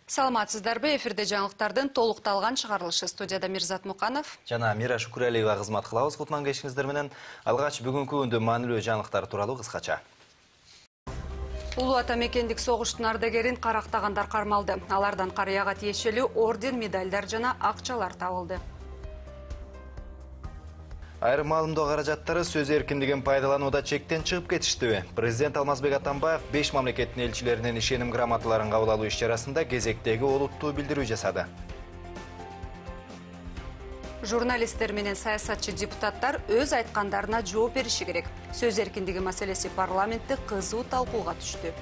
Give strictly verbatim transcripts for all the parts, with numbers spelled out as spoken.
Саламатсыздарбы, эфирде жаңылыктардын толукталган чыгарылышы. Студияда Мирзат Муканов жана Мира Шукуралиева кызмат кылабыз. Кутман кечиңиздер менен алгач бүгүнкү күндө маанилүү жаңылыктар тууралуу кыскача. Улуу ата мекендик согуштун ардагерин карактагандар кармалды. Алардан карыяга тиешелүү орден, медалдар жана акчалар табылды. Айрым маалымдоо каражаттары сөз эркиндигин пайдаланууда чектен чыгып кетиштиби? Президент Алмазбек Атамбаев беш мамлекеттин элчилеринин ишеним грамоталарын кабыл алуу иш-чарасында кезектеги олуттуу билдирүү жасады. Журналисттер менен саясатчы депутаттар өз айткандарына жооп бериши керек. Сөз эркиндиги маселеси парламентте кызуу талкууга түштү.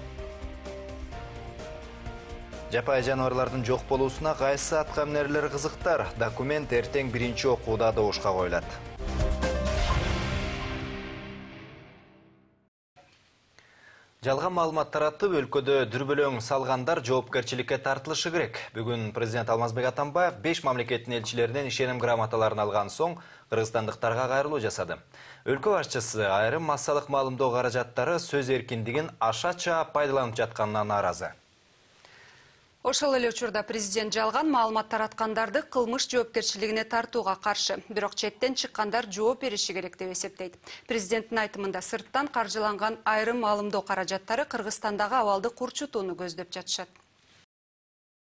Жапай жаныбарлардын жок болуусуна кайсы аткаминерлер кызыктар? Документ эртең биринчи окууда добушка коюлат. Жалган маалымат таратып, өлкөдө дүрбөлөң салгандар жоопкерчиликке тартылышы керек. Бүгүн президент Алмазбек Атамбаев беш мамлекеттин элчилеринен ишеним грамоталарын алган соң кыргызстандыктарга кайрылуу жасады. Өлкө башчысы айрым массалык маалымдоо каражаттары сөз эркиндигин ашача пайдаланып жатканына нааразы. Ошол эле учурда президент жалган маалымат тараткандарды кылмыш жоопкерчилигине тартууга каршы, бирок четтен чыккандар жооп бериши керек деп эсептейт. Президенттин айтымында сырттан каржыланган айрым маалымдоо каражаттары Кыргызстандагы абалды курчутууну көздөп жатышат.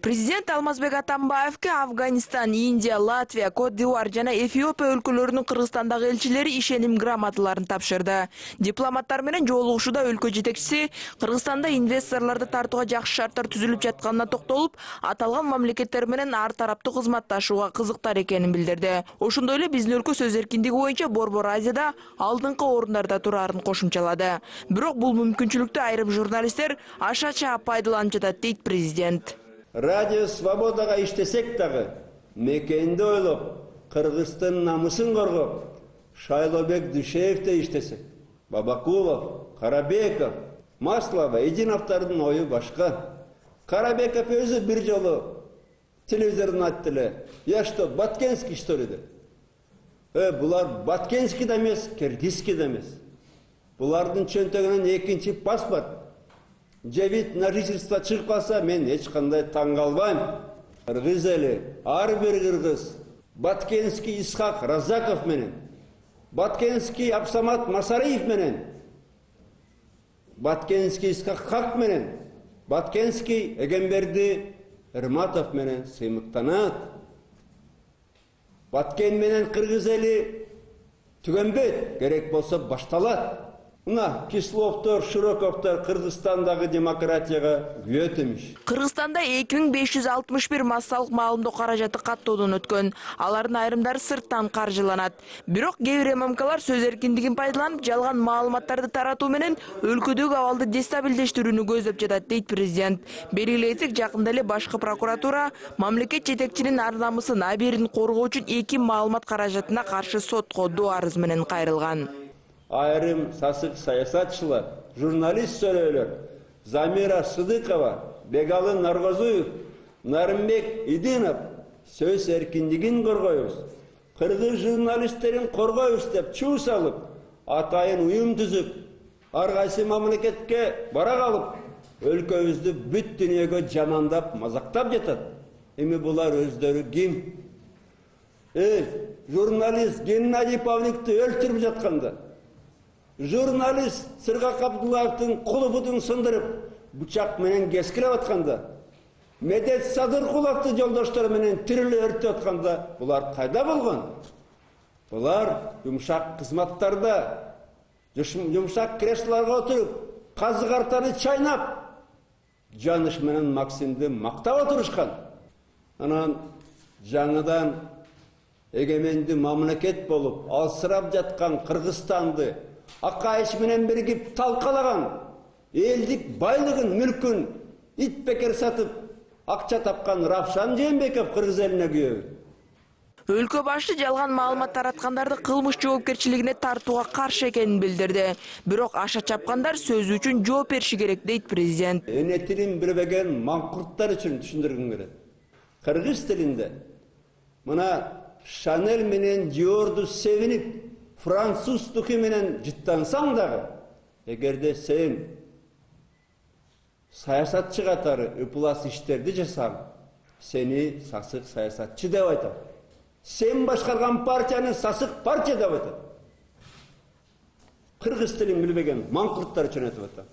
Президент Алмазбек Атамбаевке Афганистан, Индия, Латвия, Кот-д'Ивуар жана Эфиопия өлкөлөрүнүн Кыргызстандагы элчилери ишеним грамоталарын тапшырды. Дипломаттар менен жолугушууда өлкө жетекчиси Кыргызстанда инвесторлорду тартууга жакшы шарттар түзүлүп жатканына токтолуп, аталган мамлекеттер менен ар тараптуу кызматташууга кызыктар экенин билдирди. Ошондой эле биздин өлкө сөз эркиндиги боюнча Борбор Азияда алдыңкы орундарда турарын кошумчалады. Бирок бул мүмкүнчүлүктү айрым журналисттер ашача пайдаланып жатат, дейт президент. Радио Свободага иштесек дагы, мекенди ойлоп, Кыргыздын намысын коргоп, Шайлообек Дүйшеевде иштесек, Бабакулов, Карабеков, Маслова, Эдиновдордун ою башка. Карабеков өзү бир жолу телевизордон айтты эле: "Я что, Баткенский что ли?" деп. Э, булар Баткенский да эмес, Киргизский да эмес. Булардын чөнтөгүнөн экинчи паспорт, вид на жительство чыгып калса, мен эч кандай таң калбайм. Кыргыз эли, ар бир кыргыз Баткенский Исхак Разаков менен, Баткенский Абсамат Масариев менен, Баткенский Исхак Хак менен, Баткенский Эгемберди Эрматов менен сыймыктанат. Баткен менен кыргыз эли түгөнбөйт, керек болсо башталат. Мына Кисловдор, Широковдор Кыргызстандагы демократияга күбөт эмиш. Кыргызстанда эки миң беш жүз алтымыш бир массалык маалымдоо каражаты каттоодон өткөн. Алардын айрымдары сырттан каржыланат. Бирок кээ бир ММКлар сөз эркиндигин пайдаланып, жалган маалыматтарды таратуу менен өлкөдөгү абалды дестабилдештирүүнү көздөп жатат, дейт президент. Белгилей кетсек, жакында эле башкы прокуратура мамлекет жетекчинин ар намысын, аберин коргоо үчүн эки маалымат каражатына каршы сотко доо арыз менен кайрылган. Айрым сасык саясатчылар, журналист сөйлөөлөр, Замира Сыдыкова, Бегалы Наргозуев, Нарымбек Идинов сөз эркиндигин коргойбуз, кыргыз журналисттерин коргойбуз деп чуу салып, атайын уюм түзүп, ар кайсы мамлекетке бара калып, өлкөбүздү бүт дүйнөгө жамандап, мазактап жатат. Эми булар өздөрү ким? Э, журналист Геннадий Павликти өлтүрүп жатканда, журналист Сыргак Абдуллаевдин кулубудун сындырып, бычак менен кескилеп атканда, Медет Садыркуловду жолдоштор менен тириле өртөп атканда, булар кайда болгон? Булар жумшак кызматтарда, жумшак креслолорго отуруп, казы картаны чайнап, Жаныш менен Максимди мактап отурушкан. Анан жаңыдан эгеменди мамлекет болуп, алсырап жаткан Кыргызстанды Акайыш менен биригип талкалаган, элдик байлыгын, мүлкүн ит бекер сатып, акча тапкан Равшан Жээнбеков кыргыз элине күбө. Өлкө башы жалган маалымат тараткандарды кылмыш жоопкерчилигине тартууга каршы экенин билдирди. Бирок аша чапкандар сөзү үчүн жооп бериши керек, дейт президент. Эне тилин билбеген маңкурттар үчүн түшүндүргүм келет. Кыргыз тилинде мына Шанель менен Диорду севинип, француз духи менен жыттансаң дагы, эгерде сен саясатчы катары ыплас иштерди жасасаң, сени сасык саясатчы деп айтат. Сен башкарган партияны сасык партия деп айтат. Кыргыз тилин билбеген маңкурттар үчүн айтып атат.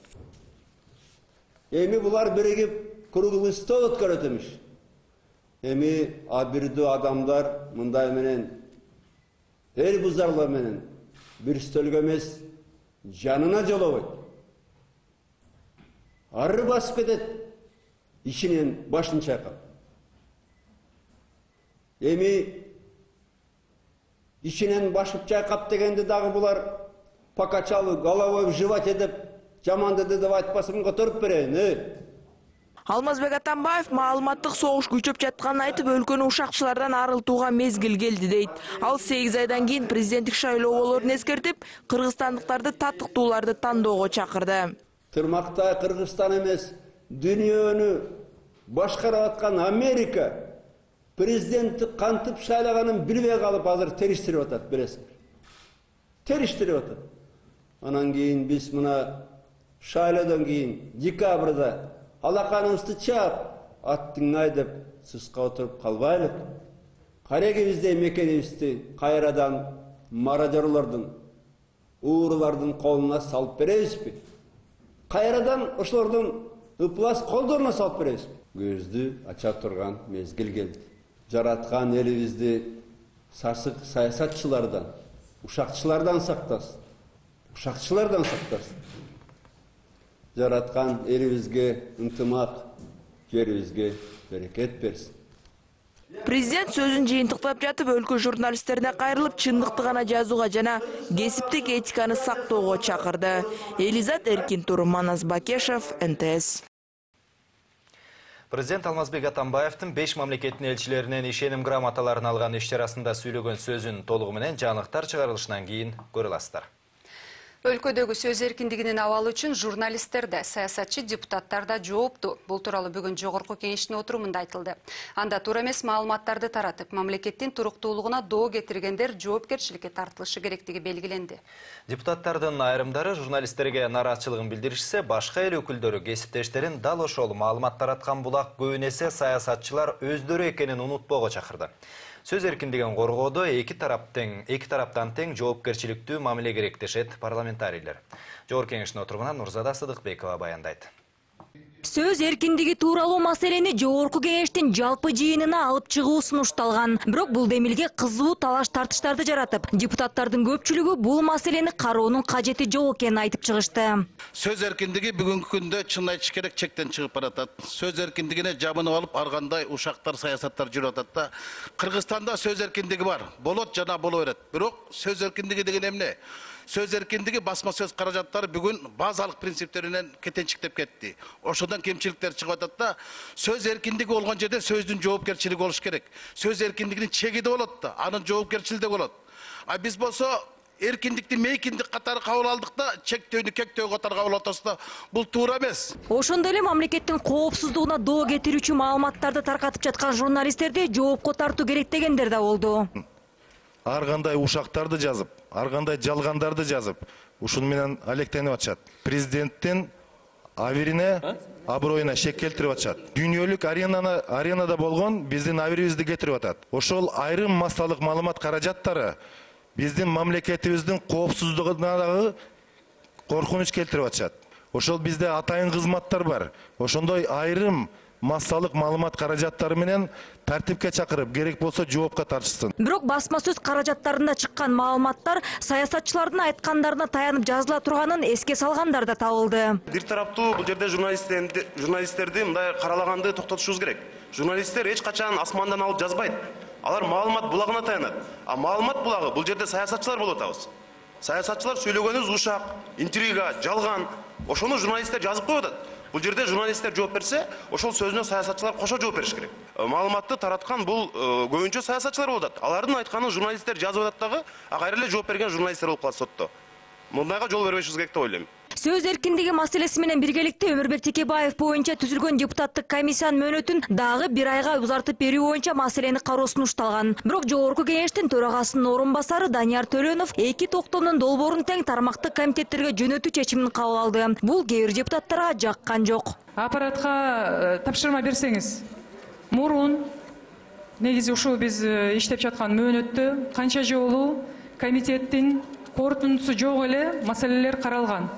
Эми булар биригип круглый стол өткөрөт эмиш. Эми абирдүү адамдар мындай менен эл бузарлар менен бир стөлгө эмес жанына жолобойт. Ары басып кетет, ишинен башын чайкап. Эми ишинен башып чайкап дегенде дагы булар покачалы головой в животе деп жаманды деп айтпасын которуп берейин, э? Алмазбек Атамбаев маалыматтык согуш күчөп жатканын айтып, өлкөнү ушакчылардан арылтууга мезгил келди дейт. Ал сегиз айдан кийин президенттик шайлоо болоорун эскертип, кыргызстандыктарды татыктууларды тандоого чакырды. Тырмакта Кыргызстан эмес, дүйнөнү башкарып аткан Америка президентти кантип шайлаганын билбей калып азыр териштирип атат, билесиңер. Териштирип атат. Анан кийин биз мына шайлоодон кийин декабрда алаканыбызды чаап, аттыңай деп сыска отуруп калбайлы. Карегибизде мекенибизди кайрадан мародерлордун, уурулардын колуна салып беребизби? Кайрадан ошолордун ыплас колдоруна салып беребизби? Көздү ача турган мезгил келди. Жараткан элибизди сасык саясатчылардан, ушакчылардан сактасын. Ушакчылардан сактасын. Жараткан элибизге ынтымак, жерибизге берекет берсин. Президент сөзүн жыйынтыктап жатып, өлкө журналисттерине кайрылып, чындыкты гана жазууга жана кесиптик этиканы сактоого чакырды. Элизат Эркинтур, Манас Бакешев, эн тэ эс. Президент Алмазбек Атамбаевдин беш мамлекеттин элчилеринен ишеним грамоталарын алган иш чарасында сүйлөгөн сөзүн толугу менен жаңылыктар чыгарылышынан кийин көрө аласыздар. Өлкөдөгү сөз эркиндигинин абалы үчүн журналисттер да, саясатчы депутаттар да жоопту. Бул тууралуу бүгүн жогорку кеңештин отурумунда айтылды. Анда туура эмес маалыматтарды таратып, мамлекеттин туруктуулугуна доо кетиргендер жоопкерчиликке тартылышы керектиги белгиленди. Депутаттардын айрымдары журналисттерге нараатчылыгын билдиришсе, башка эл өкүлдөрү кесиптештерин дал ошол маалымат тараткан булак көбүн эсе саясатчылар өздөрү экенин унутпоого чакырды. Сөз эркиндигин коргоодо эки тараптын эки тараптан тең жоопкерчиликтүү мамиле керек дешет парламентарийлер. Жогорку кеңештин отурумунан Нурзада Сыдыкбекова баяндайт. Сөз эркиндиги тууралуу маселени жогорку кеңештин жалпы жыйынына алып чыгуу сунушталган. Бирок бул демилге кызуу талаш тартыштарды жаратып, депутаттардын көпчүлүгү бул маселени кароонун кажети жок экенин айтып чыгышты. Сөз эркиндиги бүгүнкү күндө чын айтыш керек чектен чыгып баратат. Сөз эркиндигине жабынып алып, ар кандай ушактар, саясаттар жүрүп атат да. Кыргызстанда сөз эркиндиги бар. Болот жана боло берет. Бирок сөз эркиндиги деген эмне? Сөз эркиндиги басма сөз каражаттары бүгүн базалык принциптеринен кетенчиктеп кетти. Ошондон кемчиликтер чыгып атат да. Сөз эркиндиги болгон жерде сөздүн жоопкерчилиги болуш керек. Сөз эркиндигинин чеги да болот да, анын жоопкерчилиги да болот. А биз болсо эркиндикти мейкиндик катары кабыл алдык да, чектөөнү кектөө катары кабыл атабыз да. Бул туура эмес. Ошондой эле мамлекеттин коопсуздугуна доо кетирүүчү маалыматтарды таркатып жаткан журналисттерди жоопко тартуу керек дегендер да болду. Ар кандай ушактарды жазып, ар кандай жалгандарды жазып, ушун менен алектенип атышат. Президенттин абирине, аброюна шек келтирип атышат. Дүйнөлүк аренаны аренада болгон биздин абирибизди кетирип атат. Ошол айрым массалык маалымат каражаттары биздин мамлекетибиздин коопсуздугуна дагы коркунуч келтирип атышат. Ошол бизде атайын кызматтар бар. Ошондой айрым массалык маалымат каражаттары менен тартипке чакырып, керек болсо жоопко тартышсын. Бирок басма сөз каражаттарында чыккан маалыматтар саясатчылардын айткандарына таянып жазыла турганын эске салгандар да табылды. Бир тараптуу бул жерде журналисттерди журналисттерди мындай каралаганды токтотушубуз керек. Журналисттер эч качан асмандан алып жазбайт. Алар маалымат булагына таянат. А маалымат булагы бул жерде саясатчылар болуп атабыз. Саясатчылар сүйлөгөнүбүз ушак, интрига, жалган. Ошону журналисттер жазып коюп атат. Бул жерде журналисттер жооп берсе, ошол сөзүнө саясатчылар кошо жооп бериш керек. Маалыматты тараткан бул көбүнчө саясатчылар болуп атат. Алардын айтканын журналисттер жазып атат дагы, а кайра эле жооп берген журналисттер болуп калат сотто. Мындайга жол бербешибиз керек деп ойлойм. Сөз эркиндиги маселеси менен биргеликте Өмүрбек Текебаев боюнча түзүлгөн депутаттык комиссиянын мөөнөтүн дагы бир айга узартып берүү боюнча маселени кароо сунушталган. Бирок жогорку кеңештин төрагасынын орун басары Данияр Төлөнов эки токтомдун долбоорун тең тармактык комитеттерге жөнөтүү чечимин кабыл алды. Бул кээ бир депутаттарга жаккан жок. Аппаратка тапшырма берсеңиз, мурун негизи ушул биз иштеп жаткан мөөнөттө канча жолу комитеттин корутундусу жок эле маселелер каралган.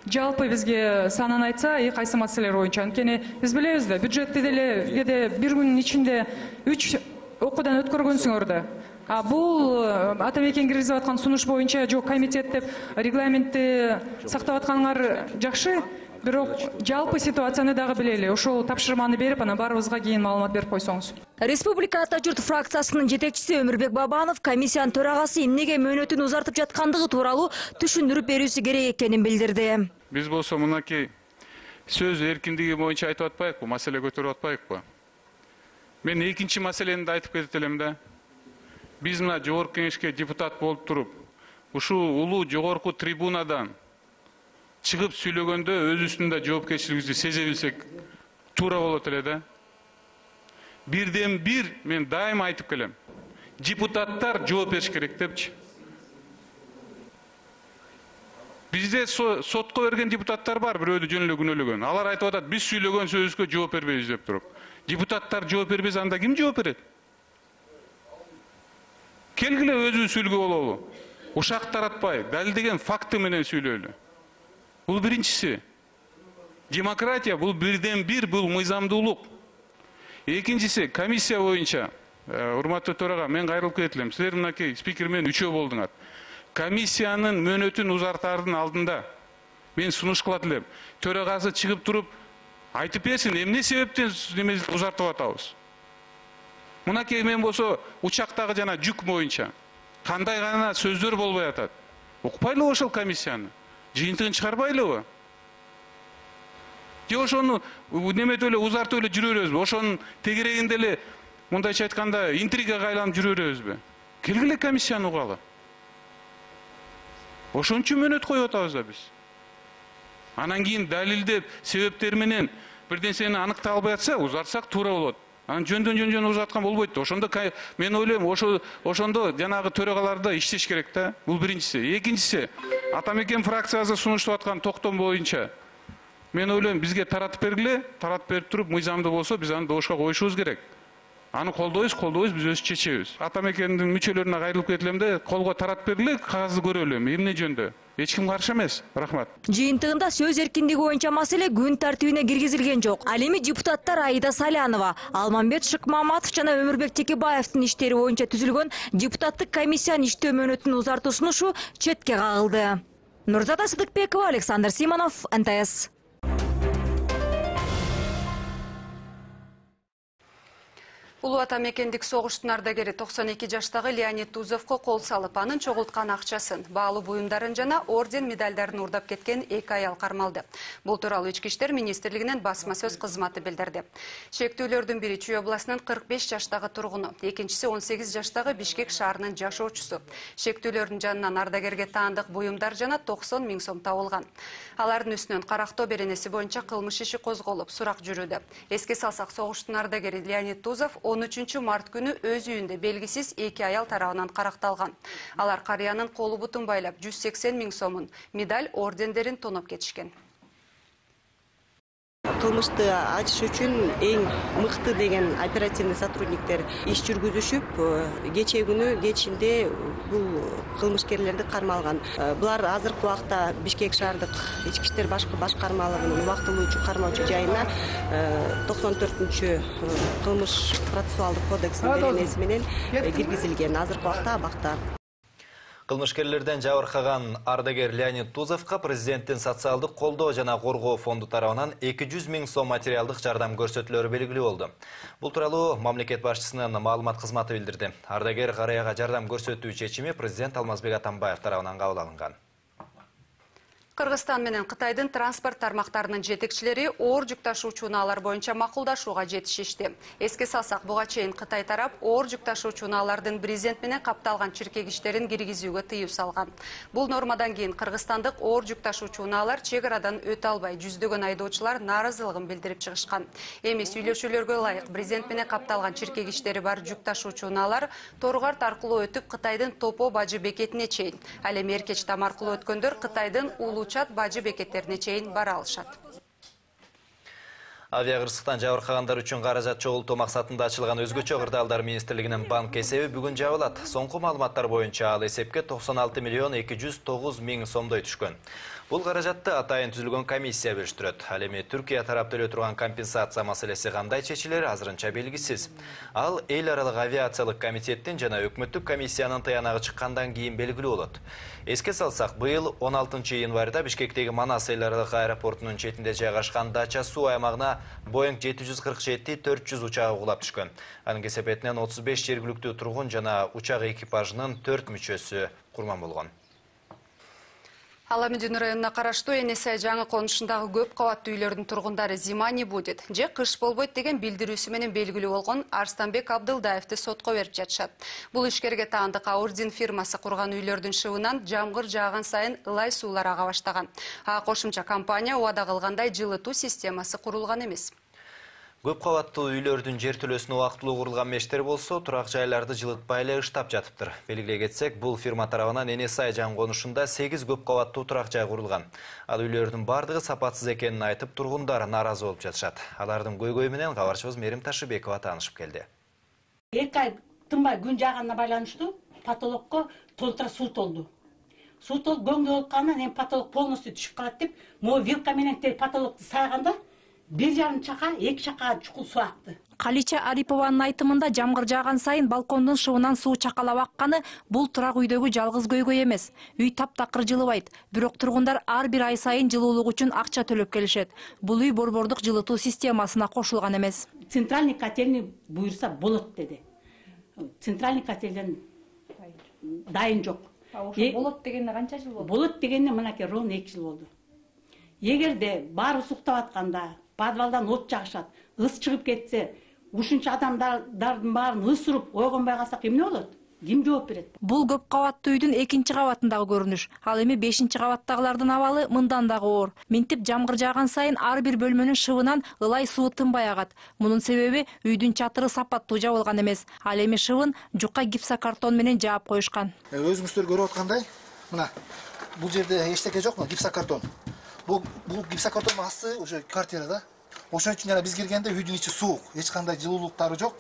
Жалпы бизге санын айтса, эки кайсы маселелер боюнча. Анткени биз билебиз да, бюджетти деле кээде бир күнүн ичинде үч окуудан өткөргөнсүңөр да. А бул атамекен киргизип аткан сунуш боюнча жок комитет деп регламентти сактап атканыңар жакшы, бирок жалпы ситуацияны дагы билели. Ошол тапшырманы берип, анан баарыбызга кийин маалымат берип койсоңуз. Республика Ата журт фракциясынын жетекчиси Өмүрбек Бабанов комиссиянын төрагасы эмнеге мөөнөтүн узартып жаткандыгы тууралуу түшүндүрүп берүүсү керек экенин билдирди. Биз болсо мынакей сөз эркиндиги боюнча айтып атпайбыкпы, маселе көтөрүп атпайбыкпы? Мен экинчи маселени да айтып кетет элем да. Биз мына жогорку кеңешке депутат болуп туруп, ушул улуу жогорку трибунадан чыгып сүйлөгөндө өзүбүздүн да жоопкерчилигибизди сезе билсек туура болот эле да. Бирден бир мен дайыма айтып келем. Депутаттар жооп бериш керек депчи. Бизде сотко берген депутаттар бар, бирөөдү жөн эле күнөөлөгөн. Алар айтып атат, биз сүйлөгөн сөзүбүзгө жооп бербейбиз деп туруп. Депутаттар жооп бербесе, анда ким жооп берет? Келгиле өзүбүз сүйлгө бололу. Ушак таратпай, далилдеген факты менен сүйлөйлү. Бул биринчиси. Демократия бул бирден бир, бул мыйзамдуулук. Экинчиси, комиссия боюнча, урматтуу төрага, мен кайрылып кетет элем. Силер мынакей спикер менен үчөө болдуңар. Комиссиянын мөөнөтүн узартаардын алдында мен сунуш кылат элем. Төрагасы чыгып туруп айтып берсин, эмне себептен неме узартып атабыз? Мынакей мен болсо учактагы жана жүк боюнча кандай гана сөздөр болбой атат. Укпайлы ошол комиссияны. Жыйынтыгын чыгарбайлыбы? Же ошону неметип эле узартып эле жүрө беребизби? Ошонун тегерегинде эле мындайча айтканда интригага айланып жүрө беребизби? Келгиле комиссияны угалы. Ошон үчүн мөөнөт коюп атабыз да биз. Анан кийин далилдеп, себептер менен бир нерсени аныктап албай атса, узартсак туура болот. Анан жөндөн жөн узаткан болбойт да. Ошондо мен ойлойм, ошо ошондо жанагы төрагаларда иштеш керек да. Бул биринчиси. Экинчиси, атамекен фракциясы сунуштап аткан токтом боюнча мен ойлойм, бизге таратып бергиле, таратып берип туруп, мыйзамдуу болсо, биз аны добушка коюшубуз керек. Аны колдойбуз, колдойбуз, биз өзү чечебиз. Атамекендин мүчөлөрүнө кайрылып кетет элем да, колго таратып бергиле, кагазды көрөлү, эмне жөндө. Эч ким каршы эмес. Рахмат. Жыйынтыгында сөз эркиндиги боюнча маселе күн тартибине киргизилген жок. Ал эми депутаттар Аида Салянова, Алмамбет Шыкмаматов жана Өмүрбек Текебаевдин иштери боюнча түзүлгөн депутаттык комиссиянын иштөө мөөнөтүн узартуу сунушу четке кагылды. Нурзата Сыдыкбекова, Александр Симонов, Н Т С. Улуу атамекендик согуштун ардагери токсон эки жаштагы Леонид Тузовго кол салып, анын чогулткан акчасын, баалуу буюмдарын жана орден медалдарын урдап кеткен эки аял кармалды. Бул тууралуу Ички иштер министрлигинин басма сөз кызматы билдирди. Шектүүлөрдүн бири Чүй областынын кырк беш жаштагы тургуну, экинчиси он сегиз жаштагы Бишкек шаарынын жашоочусу. Шектүүлөрдүн жанынан ардагерге таандык буюмдар жана токсон миң сом табылган. Алардын үстүнөн Карактоо беренеси боюнча кылмыш иши козголуп, сурак жүрүүдө. Эске салсак, согуштун ардагери Леонид Тузов он үчүнчү март күнү өз үйүндө белгисиз эки аял тарабынан каракталган. Алар карыянын колу бутун байлап жүз сексен миң сомун, медаль, ордендерин тоноп кетишкен. Кылмышты ачыш үчүн эң мыкты деген оперативный сотрудниктер иш жүргүзүшүп, кечээ күнү кечинде бул кылмышкерлерди кармалган. Булар азыркы убакта Бишкек шаардык ички иштер башкы башкармалыгынын убактылуучу кармоочу жайына токсон төртүнчү кылмыш процессуалдык кодексинин беренеси менен киргизилген. Азыркы убакта абакта. Кылмышкерлерден жабыркаган ардагер Леонид Тузовго президенттин социалдык колдоо жана коргоо фонду тарабынан эки жүз миң сом материалдык жардам көрсөтүлөрү белгилүү болду. Бул тууралуу мамлекет башчысынын маалымат кызматы билдирди. Ардагер карыяга жардам көрсөтүү чечими президент Алмазбек Атамбаев тарабынан кабыл алынган. Кыргызстан менен Кытайдын транспорт тармактарынын жетекчилери оор жүк ташуучу унаалар боюнча макулдашууга жетишишти. Эске салсак, буга чейин Кытай тарап оор жүк ташуучу унаалардын брезент менен капталган чиркегичтерин киргизүүгө тыюу салган. Бул нормадан кийин кыргызстандык оор жүк ташуучу унаалар чек арадан өтө албай, жүздөгөн айдоочулар нааразылыгын билдирип чыгышкан. Эми сүйлөшүүлөргө ылайык брезент менен капталган чиркегичтери бар жүк ташуучу унаалар Торгарт аркылуу өтүп Кытайдын Топо бажы бекетине чейин, ал эми Эркеч там аркылуу өткөндөр Кытайдын Улуучат бажы бекеттерине чейин бара алышат. Авиакырсыктан жабыркагандар үчүн каражат чогултуу максатында ачылган өзгөчө кырдаалдар министрлигинин банк эсеби бүгүн жабылат. Соңку маалыматтар боюнча ал эсепке токсон алты миллион эки жүз тогуз миң сомдой түшкөн. Бул каражатты атайын түзүлгөн комиссия бөлүштүрөт. Ал эми Түркия тарап төлөй турган компенсация маселеси кандай чечилери азырынча белгисиз. Ал эл аралык авиациялык комитеттин жана өкмөттүк комиссиянын тыянагы чыккандан кийин белгилүү болот. Эске салсак, быйыл он алтынчы январда Бишкектеги Манас эл аралык аэропортунун четинде жайгашкан Дача суу аймагына Боинг жети жүз кырк жети төрт жүз учагы кулап түшкөн. Анын кесепетинен отуз беш жергиликтүү тургун жана учак экипажынын төрт мүчөсү курман болгон. Аламедин районуна караштуу Энесай жаңы конушундагы көп кабаттуу үйлөрдүн тургундары зима не будет, же кыш болбойт деген билдирүүсү менен белгилүү болгон Арстанбек Абдылдаевди сотко берип жатышат. Бул ишкерге таандык Аурдин фирмасы курган үйлөрдүн шыбынан жамгыр жааган сайын ылай суулар ага баштаган. А кошумча компания убада кылгандай жылытуу системасы курулган эмес. Көп кабаттуу үйлөрдүн жертөлөсүнө убактылуу курулган мештер болсо, турак жайларды жылытпай эле ыштап жатыптыр. Белгилей кетсек, бул фирма тарабынан Энесай жаңы конушунда сегиз көп кабаттуу турак жай курулган. Ал үйлөрдүн бардыгы сапатсыз экенин айтып, тургундар нааразы болуп жатышат. Алардын көйгөйү менен кабарчыбыз Мерим Ташыбекова таанышып келди. эки ай тынбай күн жааганына байланыштуу потолокко толтура суу толду. Суу толуп көңдүү болуп калгандан эми потолок полностью түшүп калат деп, могу вилка менен потолокту сайганда бир жарым чака, эки чакага чукул суу акты. Калича Арипованын айтымында жамгыр жааган сайын балкондун шыбынан суу чакалап акканы бул турак үйдөгү жалгыз көйгөй эмес. Үй таптакыр жылыбайт, бирок тургундар ар бир ай сайын жылуулук үчүн акча төлөп келишет. Бул үй борбордук жылытуу системасына кошулган эмес. Центральный котельный буюрса болот деди. Центральный котельден дайын жок. Болот дегенде канча жыл болду? Болот дегенде мынакей ровно эки жыл болду. Эгерде баары суктап атканда, подвалдан от жагышат, ыс чыгып кетсе, ушунча адамдардын баарын ыс уруп ойгонбой калсак эмне болот? Ким жооп берет? Бул көп кабаттуу үйдүн экинчи кабатындагы көрүнүш. Ал эми бешинчи кабаттагылардын абалы мындан дагы оор. Минтип жамгыр жааган сайын ар бир бөлмөнүн шыбынан ылай суу тынбай агат. Мунун себеби үйдүн чатыры сапаттуу жабылган эмес. Ал эми шыбын жука гипсокартон менен жаап коюшкан. Өзүңүздөр көрүп аткандай, мына бул жерде эчтеке жокму? Гипсокартон. Бул бул гипсокартондун асты уже квартирада. Ошон үчүн жана биз киргенде үйдүн ичи суук, эч кандай жылуулуктары жок.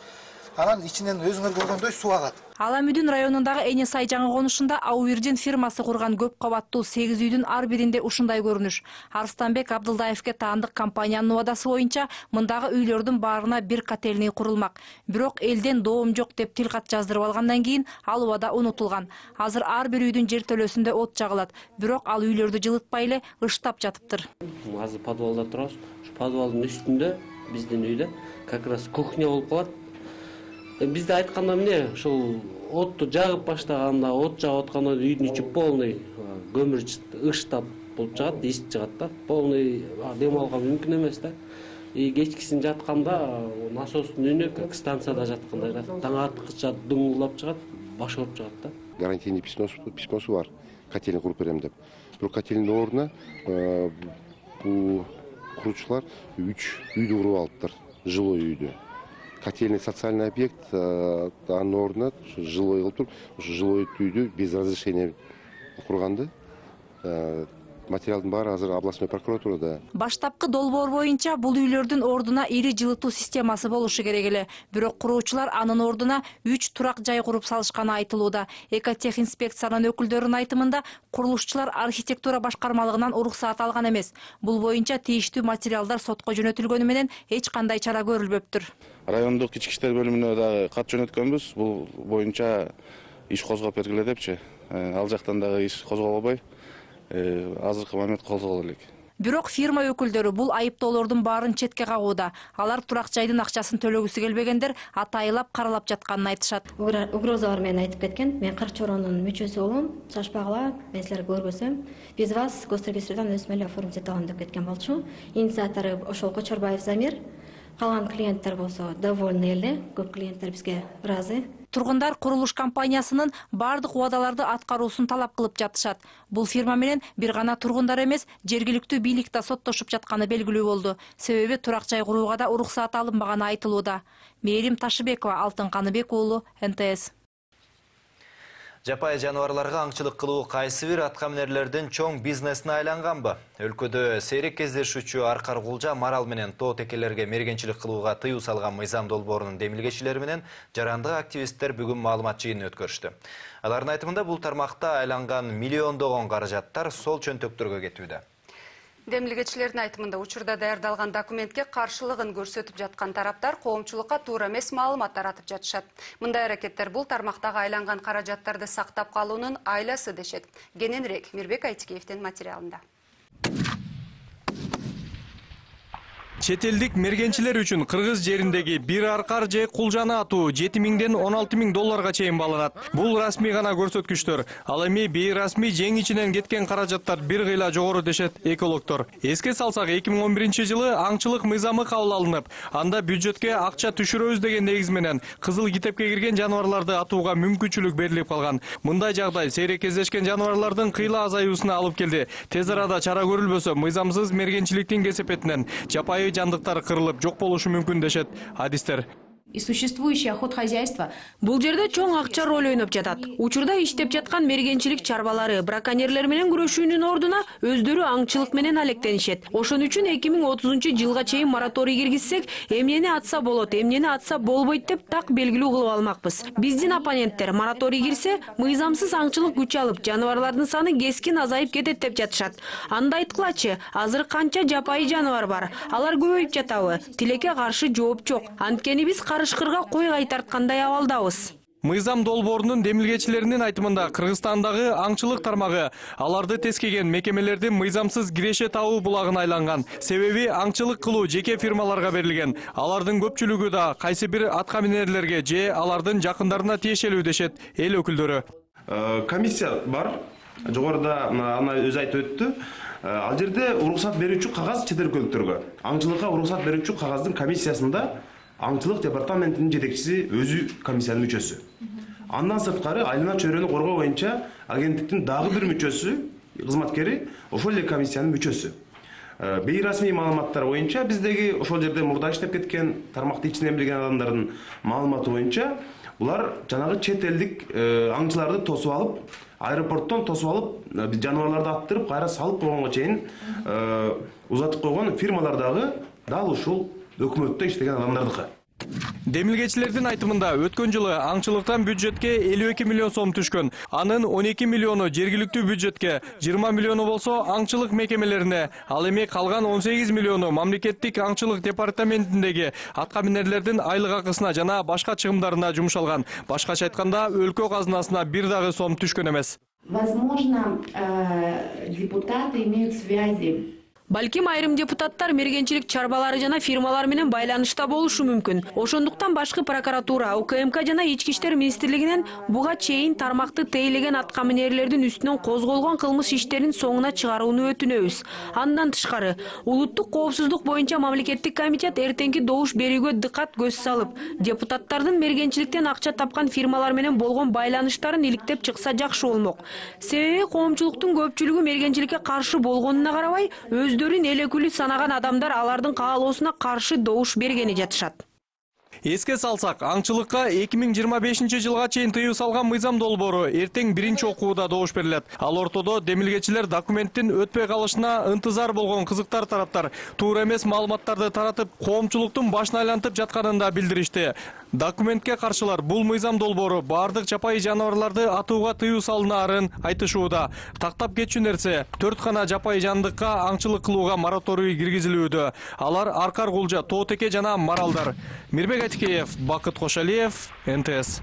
Анан ичинен өзүңөр көргөндөй суу агат. Аламүдүн районундагы Энесай жаңы конушунда Аурдин фирмасы курган көп кабаттуу сегиз үйдүн ар биринде ушундай көрүнүш. Арстанбек Абдылдаевге таандык компаниянын убадасы боюнча мындагы үйлөрдүн баарына бир котельный курулмак. Бирок элден доом жок деп тил кат жаздырып алгандан кийин ал убада унутулган. Азыр ар бир үйдүн жертөлөсүндө от жагылат, бирок ал үйлөрдү жылытпай эле ыштап жатыптыр. Азыр подвалда турабыз. Ушу подвалдын үстүндө биздин үйдө как раз кухня болуп калат. Бизде айтканда эмне, ушул отту жагып баштаганда, от жагып атканда үйдүн ичи полный көмүр ыштап болуп чыгат, из чыгат да. Полный дем алууга мүмкүн эмес да. И кечкисин жатканда насостун үнү как станцияда жаткандай да. Таң аткыча дуңулдап чыгат, баш ооруп чыгат да. Гарантийный письмосу бар, котельный куруп берем деп. Бирок котельный ордуна бул куручулар үч үйдү куруп алыптыр, жилой үйдү. Котельный социальный объект, анын ордуна жилой кылып туруп, ушу жилой үйдү без разрешения курганды. Материалдын баары азыр областной прокуратурада. Баштапкы долбоор боюнча бул үйлөрдүн ордуна ири жылытуу системасы болушу керек эле. Бирок куруучулар анын ордуна үч турак жай куруп салышканы айтылууда. Экотехинспекциянын өкүлдөрүнүн айтымында курулушчулар архитектура башкармалыгынан уруксаат алган эмес. Бул боюнча тийиштүү материалдар сотко жөнөтүлгөнү менен эч кандай чара көрүлбөптүр. Райондук ички иштер бөлүмүнө дагы кат жөнөткөнбүз. Бул боюнча иш козгоп бергиле депчи. Ал жактан дагы иш козголбой азыркы момент козголо элек. Бирок фирма өкүлдөрү бул айыптоолордун баарын четке кагууда. Алар турак жайдын акчасын төлөгүсү келбегендер атайылап каралап жатканын айтышат. Угрозалар менен айтып кеткен. Мен Карчоронун мүчөсү болом. Шашпагыла, мен силерге көргөзөм. Биз вас госрегистрден өсмө эле оформить эте алам деп кеткен болчу. Инициатору ошол Кочорбаев Замир. Калган клиенттер болсо довольны эле. Көп клиенттер бизге ыраазы. Тургундар курулуш компаниясынын бардык убадаларды аткаруусун талап кылып жатышат. Бул фирма менен бир гана тургундар эмес, жергиликтүү бийлик да соттошуп жатканы белгилүү болду. Себеби турак жай курууга да уруксаат алынбаганы айтылууда. Мээрим Ташыбекова, Алтын Каныбек уулу, эн тэ эс. Жапай жануарларга аңчылык кылуу кайсы бир аткаминерлердин чоң бизнесине айланганбы? Өлкөдө сейрек кездешүүчү аркар кулжа, марал менен тоо текелерге мергенчилик кылууга тыюу салган мыйзам долбоорунун демилгечилери менен жарандык активисттер бүгүн маалымат жыйынын өткөрүштү. Алардын айтымында бул тармакта айланган миллиондогон каражаттар сол чөнтөктөргө кетүүдө. Демилгечилердин айтымында учурда даярдалган документке каршылыгын көрсөтүп жаткан тараптар коомчулукка туура эмес маалымат таратып жатышат. Мындай аракеттер бул тармактагы айланган каражаттарды сактап калуунун айласы дешет. Кененирээк Мирбек Айтикеевдин материалында. Чет элдик мергенчилер үчүн Кыргыз жериндеги бир аркар же кулжаны атуу жети миңден он алты миң долларга чейин бааланат. Бул расмий гана көрсөткүчтөр. Ал эми бейрасмий жең ичинен кеткен каражаттар бир кыйла жогору дешет экологдор. Эске салсак, эки миң он биринчи жылы аңчылык мыйзамы кабыл алынып, анда бюджетке акча түшүрөбүз деген негиз менен кызыл китепке кирген жаныбарларды атууга мүмкүнчүлүк берилип калган. Мындай жагдай сейрек кездешкен жаныбарлардын кыйла азаюусуна алып келди. Тез арада чара көрүлбөсө, мыйзамсыз мергенчиликтин кесепетинен жапайы жандыктар кырылып жок болушу мүмкүн дешет адистер. И существующее охотхозяйство. Бул жерде чоң акча роль ойноп жатат. Учурда иштеп жаткан мергенчилик чарбалары браконьерлер менен күрөшүүнүн ордуна өздөрү аңчылык менен алектенишет. Ошон үчүн эки миң отузунчу жылга чейин мораторий киргизсек, эмнени атса болот, эмнени атса болбойт деп так белгилүү кылып алмакпыз. Биздин оппоненттер мораторий кирсе, мыйзамсыз аңчылык күч алып, жаныбарлардын саны кескин азайып кетет деп жатышат. Анда айткылачы, азыр канча жапайы жаныбар бар? Алар көбөйүп жатабы? Тилекке каршы жооп жок. Анткени биз Карышкырга кой кайтарткандай абалдабыз. Мыйзам долбоорунун демилгечилеринин айтымында Кыргызстандагы аңчылык тармагы аларды тескеген мекемелердин мыйзамсыз киреше табуу булагына айланган. Себеби аңчылык кылуу жеке фирмаларга берилген. Алардын көпчүлүгү да кайсы бир аткаминерлерге же алардын жакындарына тиешелүү дешет эл өкүлдөрү. Комиссия бар. Жогоруда аны өзү айтып өттү. Ал жерде уруксат берүүчү кагаз чет өлкөлүктөргө. Аңчылыкка уруксат берүүчү кагаздын комиссиясында аңчылык департаментинин жетекчиси өзү комиссиянын мүчөсү. Андан сырткары айлана чөйрөнү коргоо боюнча агенттиктин дагы бир мүчөсү, кызматкери ошол эле комиссиянын мүчөсү. Бейрасмий маалыматтар боюнча биздеги ошол жерде мурда иштеп кеткен тармакты ичинен билген адамдардын маалыматы боюнча булар жанагы чет элдик аңчыларды тосуп алып, аэропорттон тосуп алып, жаныбарларды аттырып, кайра салып койгонго чейин узатып койгон фирмалар дагы дал ушул өкмөттө иштеген адамдардыкы. Демилгечилердин айтымында өткөн жылы аңчылыктан бюджетке элүү эки миллион сом түшкөн. Анын он эки миллиону жергиликтүү бюджетке, жыйырма миллиону болсо аңчылык мекемелерине, ал эми калган он сегиз миллиону мамлекеттик аңчылык департаментиндеги аткаминерлердин айлык акысына жана башка чыгымдарына жумшалган. Башкача айтканда, өлкө казынасына бир дагы сом түшкөн эмес. Возможно, депутаты имеют связи. Балким айрым депутаттар мергенчилик чарбалары жана фирмалар менен байланышта болушу мүмкүн. Ошондуктан башкы прокуратура, У К М К жана Ички иштер министрлигинен буга чейин тармакты тейлеген аткаминерлердин үстүнөн козголгон кылмыш иштерин соңуна чыгарууну өтүнөбүз. Андан тышкары, улуттук коопсуздук боюнча мамлекеттик комитет эртеңки добуш берүүгө дыкат көз салып, депутаттардын мергенчиликтен акча тапкан фирмалар менен болгон байланыштарын иликтеп чыкса жакшы болмок. Себеби коомчулуктун көпчүлүгү мергенчиликке каршы болгонуна карабай, өздөрүн эл өкүлү санаган адамдар алардын каалоосуна каршы добуш бергени жатышат. Эске салсак, аңчылыкка эки миң жыйырма бешинчи жылга чейин тыюу салган мыйзам долбоору эртең биринчи окууда добуш берилет. Ал ортодо демилгечилер документтин өтпөй калышына ынтызар болгон кызыктар тараптар туура эмес маалыматтарды таратып, коомчулуктун башын айлантып жатканын да билдиришти. Документке каршылар бул мыйзам долбоору бардык жапайы жаныбарларды атууга тыюу салынаарын айтышууда. Тактап кетчү нерсе, төрт гана жапайы жандыкка аңчылык кылууга мораторий киргизилүүдө. Алар аркар кулжа, тоо теке жана маралдар. Мирбек Айтикеев, Бакыт Кошалиев, эн тэ эс.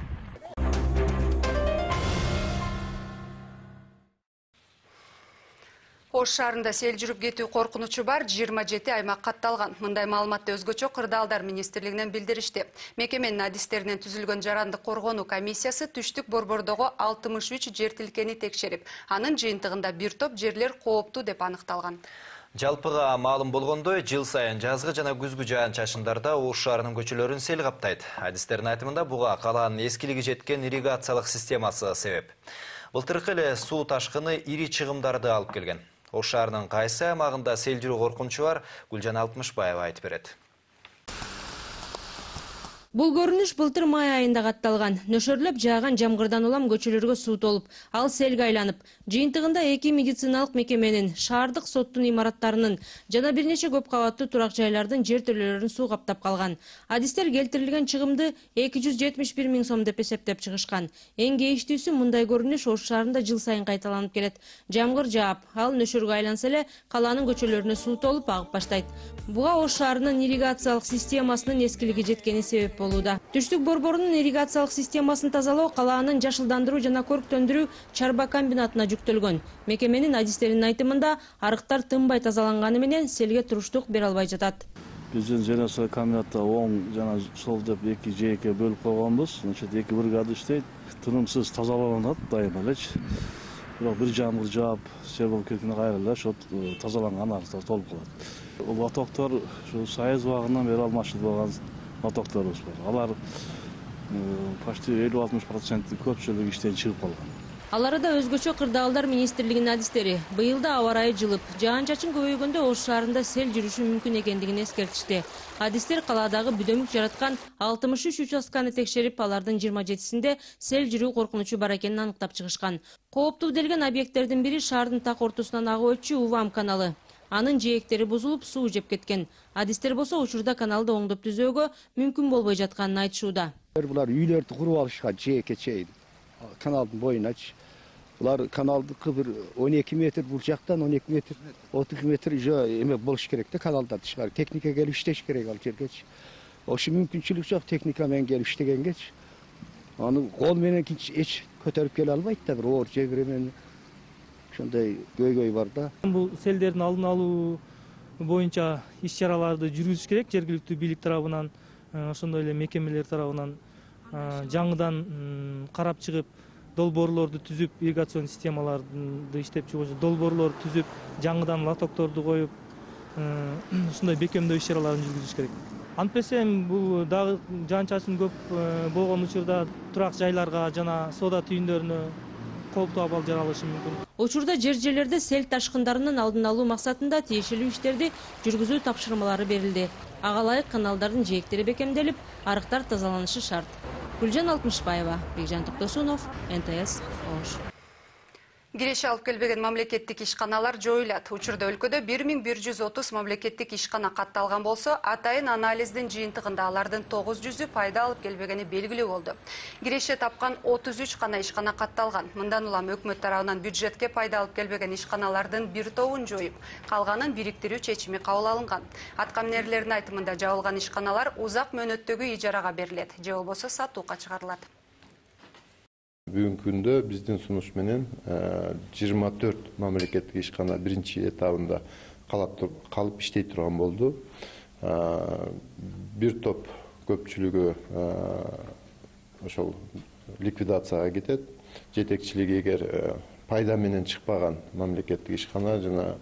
Ош шаарында сел жүрүп кетүү коркунучу бар жыйырма жети аймак катталган. Мындай маалыматты өзгөчө кырдаалдар министрлигинен билдиришти. Мекеменин адистеринен түзүлгөн жарандык коргонуу комиссиясы түштүк борбордогу алтымыш үч жер тилкени текшерип, анын жыйынтыгында бир топ жерлер кооптуу деп аныкталган. Жалпыга маалым болгондой, жыл сайын жазгы жана күзгү жаан-чачындарда Ош шаарынын көчөлөрүн сел каптайт. Адистердин айтымында буга калаанын эскилиги жеткен ирригациялык системасы себеп. Былтыркы эле суу ташкыны ири чыгымдарды алып келген. Ош шаарынын кайсы аймагында сел жүрүү коркунучу бар, Гүлжан Алтымышбаева айтып берет. Бул көрүнүш былтыр май айында катталган. Нөшөрлөп жааган жамгырдан улам көчөлөргө суу толуп, ал селге айланып, жыйынтыгында эки медициналык мекеменин, шаардык соттун имараттарынын жана бир нече көп кабаттуу турак жайлардын жертөлөлөрүн суу каптап калган. Адистер келтирилген чыгымды эки жүз жетимиш бир миң сом деп эсептеп чыгышкан. Эң кейиштүүсү мындай көрүнүш Ош шаарында жыл сайын кайталанып келет. Жамгыр жаап, ал нөшөргө айланса эле калаанын көчөлөрүнө суу толуп агып баштайт. Буга Ош шаарынын ирригациялык системасынын эскилиги жеткени себеп болууда. Түштүк борборунун ирригациялык системасын тазалоо калаанын жашылдандыруу жана көрктөндүрүү чарба комбинатына жүктөлгөн. Мекеменин адистеринин айтымында арыктар тынбай тазаланганы менен селге туруштук бере албай жатат. Биздин жана комбинатта оң жана сол деп эки жээкке бөлүп койгонбуз. Значит, эки бригада иштейт, тынымсыз тазаланат дайыма элечи. Бирок бир жамгыр жаап, сел болуп кеткенде кайра эле ошо тазаланган арыктар толуп калат. Лотоктор ушу Союз убагынан бери алмашылбаган лотокторубуз бар. Алар почти элүү алтымыш процент көпчүлүгү иштен чыгып калган. Ал арада өзгөчө кырдаалдар министрлигинин адистери быйыл да аба ырайы жылып, жаан-чачын көбөйгөндө Ош шаарында сел жүрүшү мүмкүн экендигин эскертишти. Адистер калаадагы бүдөмүк жараткан алтымыш үч участканы текшерип, алардын жыйырма жетисинде сел жүрүү коркунучу бар экенин аныктап чыгышкан. Кооптуу делген объекттердин бири шаардын так ортосунан агып өтчү Увам каналы. Анын жээктери бузулуп, суу жеп кеткен. Адистер болсо учурда каналды оңдоп түзөөгө мүмкүн болбой жатканын айтышууда. Булар үйлөрдү куруп алышкан жээкке чейин, каналдын боюначы. Булар каналдыкы бир он эки метр, бул жактан он эки метр, отуз эки метр жөө эме болуш керек да, каналдар тышкары. Техника келип иштеш керек ал жергечи. Ошо мүмкүнчүлүк жок техника менен келип иштегенгечи. Аны кол менен эч көтөрүп келе албайт да, бир оор жебир менен. Ошондой көйгөй бар да. Бул селдердин алдын алуу боюнча иш-чараларды жүргүзүш керек жергиликтүү бийлик тарабынан, ошондой эле мекемелер тарабынан жаңыдан карап чыгып, долбоорлорду түзүп, ирригацион системаларды иштеп чыгуучу долбоорлорду түзүп, жаңыдан лотокторду коюп, ушундай бекемдөө иш-чараларын жүргүзүш керек. Антпесе бул дагы жаан-чачын көп болгон учурда турак жайларга жана соода түйүндөрүнө кооптуу абал жаралышы мүмкүн. Учурда жер-жерлерде сел ташкындарынын алдын алуу максатында тиешелүү иштерди жүргүзүү тапшырмалары берилди. Ага ылайык каналдардын жээктери бекемделип, арыктар тазаланышы шарт. Гүлжан Алтымышбаева, Бекжан Токтосунов, эн тэ эс Ош. Киреше алып келбеген мамлекеттик ишканалар жоюлат. Учурда өлкөдө бир миң бир жүз отуз мамлекеттик ишкана катталган болсо, атайын анализдин жыйынтыгында алардын тогуз жүзү пайда алып келбегени белгилүү болду. Киреше тапкан отуз үч гана ишкана катталган. Мындан улам өкмөт тарабынан бюджетке пайда алып келбеген ишканалардын бир тобун жоюп, калганын бириктирүү чечими кабыл алынган. Аткаминерлердин айтымында жабылган ишканалар узак мөөнөттөгү ижарага берилет, же болбосо сатууга чыгарылат. Бүгүнкү күндө биздин сунуш менен жыйырма төрт мамлекеттик ишкана биринчи этабында калып иштей турган болду. Бир топ көпчүлүгү ошол ликвидацияга кетет. Жетекчилиги эгер пайда менен чыкпаган мамлекеттик ишкана жана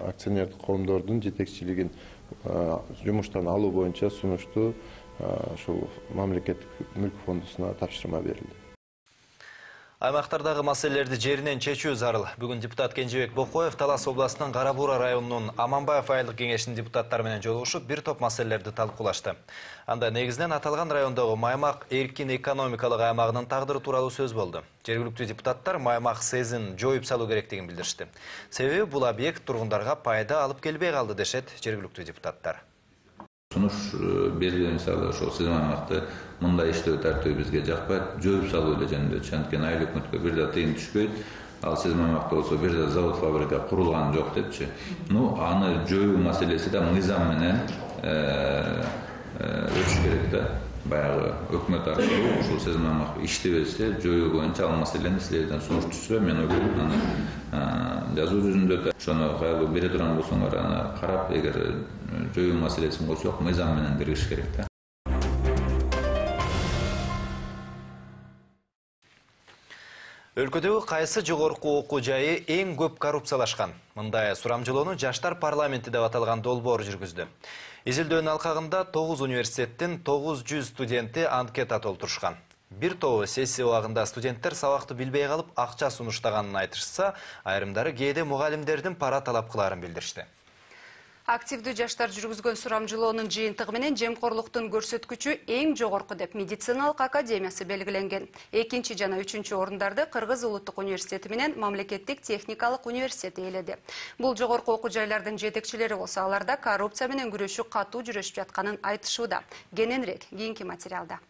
акционердик коомдордун жетекчилигин жумуштан алуу боюнча сунушту ошол мамлекеттик мүлк фондусуна тапшырма берилди. Аймактардагы маселелерди жеринен чечүү зарыл. Бүгүн депутат Кенжебек Бокоев Талас областынын Кара Буура районунун Аманбаев айылдык кеңешинин депутаттары менен жолугушуп, бир топ маселелерди талкуулашты. Анда негизинен аталган райондогу Маймак эркин экономикалык аймагынын тагдыры тууралуу сөз болду. Жергиликтүү депутаттар Маймак СЭЗин жоюп салуу керектигин билдиришти. Себеби бул объект тургундарга пайда алып келбей калды дешет жергиликтүү депутаттар. Сунуш берилген мисалы ошол сиз аймакта мындай иштөө тартиби бизге жакпайт, жоюп салуу эле жөнүндө. Анткени айыл өкмөткө бир да тыйын түшпөйт. Ал сиз аймакта болсо бир да завод фабрика курулган жок депчи. Ну, аны жоюу маселеси да мыйзам менен өтүш керек да. баягы өкмөт аркылуу ушул сезим аймак иштебесе жоюу боюнча ал маселени силерден сунуш түшсө, мен ойлойм, аны жазуу жүзүндө ошону кайгы бере турган болсоңор, аны карап, эгер жоюу маселесин койсок, мыйзам менен киргизиш керек да. Өлкөдөгү кайсы жогорку окуу жайы эң көп коррупциялашкан? Мындай сурамжылоону Жаштар парламенти деп аталган долбоор жүргүздү. Изилдөөнүн алкагында тогуз университеттин тогуз жүз студенти анкета толтурушкан. Бир тобу сессия убагында студенттер сабакты билбей калып акча сунуштаганын айтышса, айрымдары кээде мугалимдердин пара талап кылаарын билдиришти. Активдүү жаштар жүргүзгөн сурамжылоонун жыйынтыгы менен жемкорлуктун көрсөткүчү эң жогорку деп медициналык академиясы белгиленген. Экинчи жана үчүнчү орундарды Кыргыз Улуттук университети менен Мамлекеттик техникалык университети ээледи. Бул жогорку окуу жайлардын жетекчилери болсо, аларда коррупция менен күрөшүү катуу жүрүшүп жатканын айтышууда. Кененирээк кийинки материалда.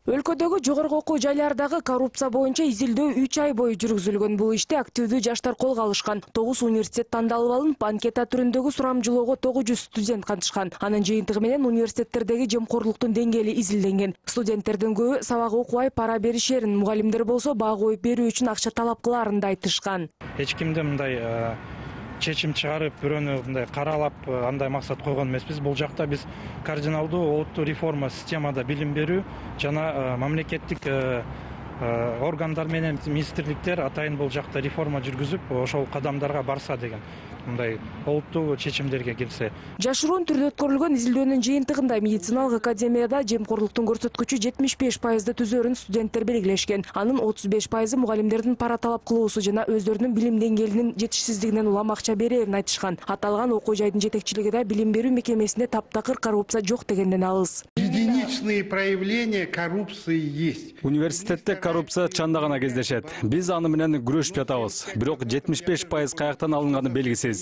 Өлкөдөгү жогорку окуу жайлардагы коррупция боюнча изилдөө үч ай бою жүргүзүлгөн. Бул ишти активдүү жаштар колго алышкан. тогуз университет тандалып алынып, анкета түрүндөгү сурамжылоого тогуз жүз студент катышкан. Анын жыйынтыгы менен университеттердеги жемкорлуктун деңгээли изилденген. Студенттердин көбү сабак окубай пара беришерин, мугалимдер болсо баа коюп берүү үчүн акча талап кылаарын да айтышкан. Эч кимде мындай чечим чыгарып, бирөөнү мындай каралап, андай максат койгон эмеспиз. Бул жакта биз кардиналдуу олуттук реформа системада билим берүү жана мамлекеттик органдар менен министрликтер атайын бул жакта реформа жүргүзүп, ошол кадамдарга барса деген мындай олуттук чечимдерге келсе. Жашыруун түрдө өткөрүлгөн изилдөөнүн жыйынтыгында медициналык академияда жемкорлуктун көрсөткүчү жетимиш беш пайызды түзөрүн студенттер белгилешкен. Анын отуз беш пайызы мугалимдердин пара талап кылуусу жана өздөрүнүн билим деңгээлинин жетишсиздигинен улам акча берерин айтышкан. Аталган окуу жайдын жетекчилиги да билим берүү мекемесинде таптакыр коррупция жок дегенден алыс. Единичные проявления коррупции есть. Университетте коррупция чанда гана кездешет. Биз аны менен күрөшүп жатабыз. Бирок жетимиш беш пайыз каяктан алынганы белгисиз.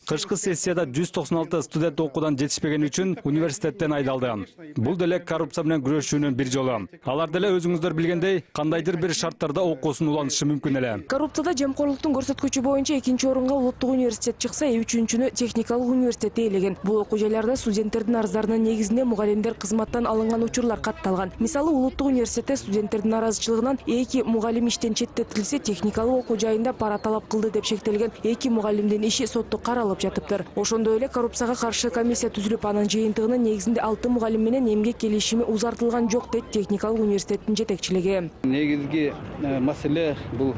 Кышкы сессияда жүз токсон алты студент окуудан жетишпегени үчүн университеттен айдалды. Бул деле коррупция менен күрөшүүнүн бир жолу. Алар деле өзүңүздөр билгендей, кандайдыр бир шарттарда окуусун улантышы мүмкүн эле. Коррупцияда жемкорлуктун көрсөткүчү боюнча экинчи орунга Улуттук университет чыкса, үчүнчүнү техникалык университет ээлеген. Бул окуу жайларда студенттердин арыздарынын негизинде мугалимдер кызматтан алынган учурлар катталган. Мисалы, Улуттук университетте студенттердин наразычылыгынан эки мугалим иштен четтетилсе, техникалык окуу жайында пара талап кылды деп шектелген эки мугалимдин иши сотто каралып жатыптыр. Ошондой эле коррупцияга каршы комиссия түзүлүп, анын жыйынтыгынын негизинде алты мугалим менен эмгек келишими узартылган жок дейт техникалык университеттин жетекчилиги. Негизги маселе бул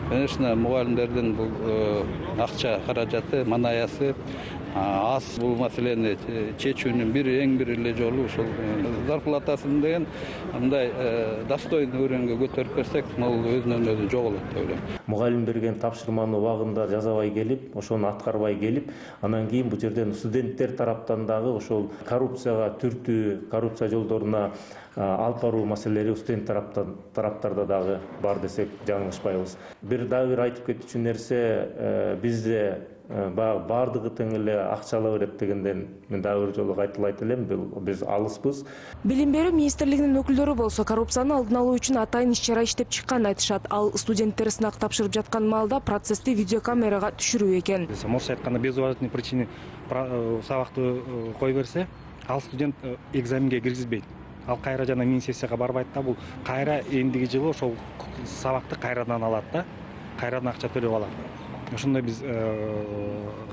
конечно мугалимдердин бул акча каражаты, манаясы аз. Бул маселени чечүүнүн бир эң бир эле жолу ушул зарплатасын деген мындай достойный уровеньге көтөрүп берсек, бул өзүнөн өзү жоголот деп ойлойм. Мугалим берген тапшырманы убагында жасабай келип, ошону аткарбай келип, анан кийин бул жерден студенттер тараптан дагы ошол коррупцияга түртүү, коррупция жолдоруна алып баруу маселелери студент тараптан тараптарда дагы бар десек жаңылышпайбыз. Бир дагы бир айтып кетчү нерсе, бизде баардыгы тең эле акча ала берет дегенден мен дагы бир жолу кайталайт элем, биз алыспыз. Билим берүү министрлигинин өкүлдөрү болсо коррупцияны алдын алуу үчүн атайын иш-чара иштеп чыкканын айтышат. Ал студенттер сынак тапшырып жаткан маалда процессти видеокамерага түшүрүү экен. Морс айтканда без уважительной причины сабакты кое берсе, ал студент экзаменге киргизбейт. Ал кайра жана мини сессияга барбайт да, бул кайра эндиги жылы ошол сабакты кайрадан алат да, кайрадан акча төлөп алат. Ошондой биз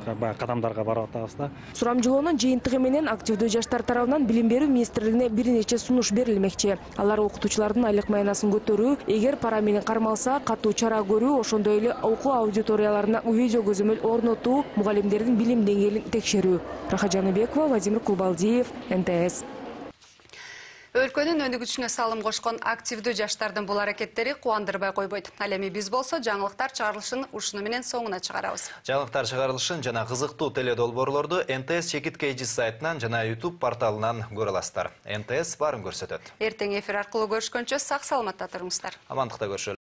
кадамдарга барып атабыз да. Сурамжылоонун жыйынтыгы менен активдүү жаштар тарабынан билим берүү министрлигине бир нече сунуш берилмекчи. Алар окутуучулардын айлык маянасын көтөрүү, эгер пара менен кармалса, катуу чара көрүү, ошондой эле окуу аудиторияларына видео көзөмөл орнотуу, мугалимдердин билим деңгээлин текшерүү. Раха Жаныбекова, Владимир Кулбалдиев, эн тэ эс. Өлкөнүн өнүгүшүнө салым кошкон активдүү жаштардын бул аракеттери кубандырбай койбойт. Ал эми биз болсо жаңылыктар чыгарылышын ушуну менен соңуна чыгарабыз. Жаңылыктар чыгарылышын жана кызыктуу теледолбоорлорду эн тэ эс Чекит Кейжис сайтынан жана YouTube порталынан көрө аласыздар. эн тэ эс баарын көрсөтөт. Эртең эфир аркылуу көрүшкөнчө сак саламатта туруңуздар. Амандыкта көрүшөлү.